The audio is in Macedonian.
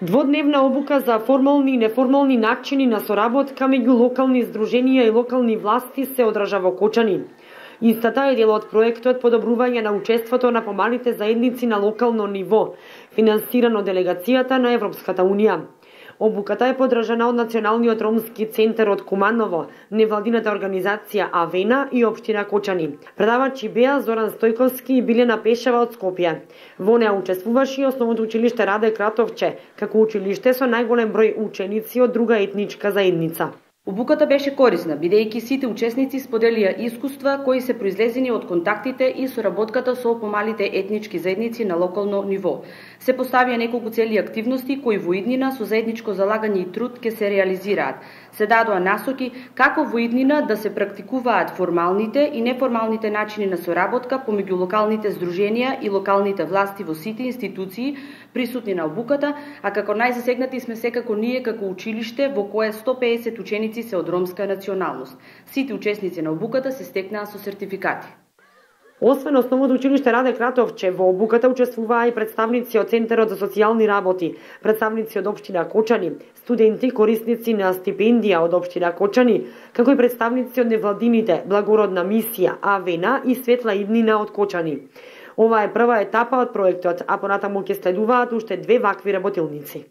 Дводневна обука за формални и неформални начини на соработка меѓу локални здруженија и локални власти се одржа во Кочани. Истата е дел од проектот подобрување на учеството на помалите заедници на локално ниво, финансиран од делегацијата на Европската Унија. Обуката е подржана од Националниот ромски центар од Куманово, невладината организација Авена и општина Кочани. Предавачи беа Зоран Стојковски и Билена Пешева од Скопје. Во неа учествуваше и Основното училиште Раде Кратовче, како училиште со најголем број ученици од друга етничка заедница. Обуката беше корисна, бидејќи сите учесници споделија искуства кои се произлезени од контактите и соработката со помалите етнички заедници на локално ниво. Се поставија неколку цели активности кои во иднина со заедничко залагање и труд ќе се реализираат. Се дадоа насоки како во иднина да се практикуваат формалните и неформалните начини на соработка помеѓу локалните здруженија и локалните власти во сите институции присутни на обуката, а како најзасегнати сме секако ние како училиште во кое 150 ученици се од ромска националност. Сите учесници на обуката се стекнаа со сертификати. Освен Основното училиште Раде Кратовче, во обуката учествуваа и представници од Центарот за социјални работи, представници од општина Кочани, студенти корисници на стипендија од општина Кочани, како и представници од невладините Благородна мисија, Авена и Светла иднина од Кочани. Ова е прва етапа од проектот, а понатаму ќе следуваат уште 2 вакви работилници.